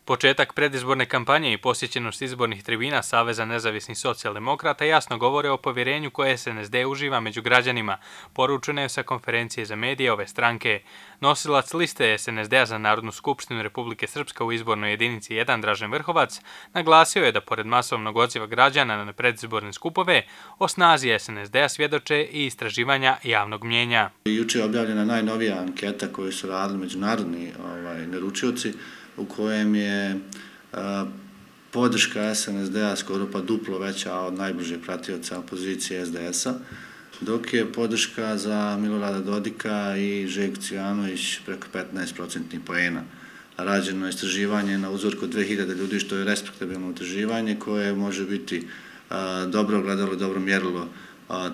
Početak predizborne kampanje i posjećenost izbornih tribina Saveza nezavisnih socijaldemokrata jasno govore o povjerenju koje SNSD uživa među građanima, poručeno je sa konferencije za medije ove stranke. Nosilac liste SNSD-a za Narodnu skupštinu Republike Srpska u izbornoj jedinici 1 Dražen Vrhovac naglasio je da pored masovnog odziva građana na predizborne skupove, o snazi SNSD-a svjedoče i istraživanja javnog mnjenja. Juče je objavljena najnovija anketa koju su radili međunarodni naručioci, u kojem je podrška SNSD-a skoro pa duplo veća od najbližeg pratioca opozicije SDS-a, dok je podrška za Milorada Dodika i Željku Cvijanović preko 15% poena. Rađeno je istraživanje na uzorku 2000 ljudi, što je respektabilno istraživanje koje može biti dobro gledalo i dobro mjerilo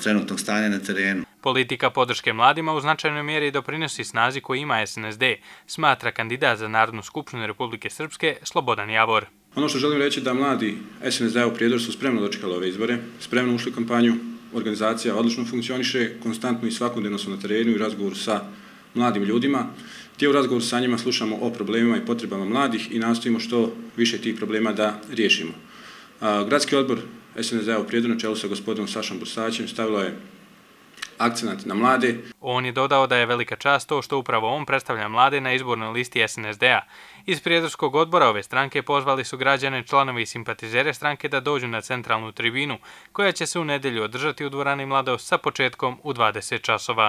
trenutnog stanja na terenu. Politika podrške mladima u značajnoj mjeri doprinosi snazi koju ima SNSD, smatra kandidat za Narodnu skupštinu Republike Srpske Slobodan Javor. Ono što želim reći da mladi SNSD u Prijedoru su spremno dočekali ove izbore, spremno ušli u kampanju, organizacija odlično funkcioniše, konstantno i svakodnevno su na terenu i razgovoru sa mladim ljudima. Te u razgovoru sa njima slušamo o problemima i potrebama mladih i nastojimo što više tih problema da riješimo. Gradski odbor SNSD u Prijedoru na čelu sa gospodinom Sašom Bursaćem stavilo je akcenat na mlade. On je dodao da je velika čast to što upravo on predstavlja mlade na izbornoj listi SNSD-a. Iz Prijedorskog odbora ove stranke pozvali su građane, članovi i simpatizere stranke da dođu na centralnu tribinu, koja će se u nedjelju održati u dvorani Mladost sa početkom u 20 časova.